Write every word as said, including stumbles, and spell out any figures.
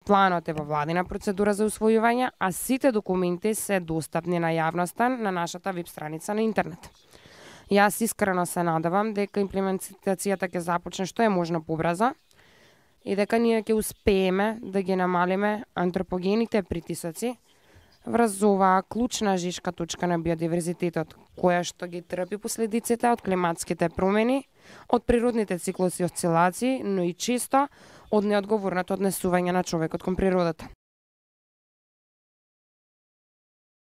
Планот е во владина процедура за усвојување, а сите документи се достапни на јавноста на нашата веб страница на интернет. Јас искрено се надевам дека имплементацијата ќе започне што е можно побрзо и дека ние ќе успееме да ги намалиме антропогените притисоци врз оваа клучна жишка точка на биодиверзитетот, која што ги трпи последиците од климатските промени, од природните циклуси и осцилации, но и често од неодговорното однесување на човекот кон природата.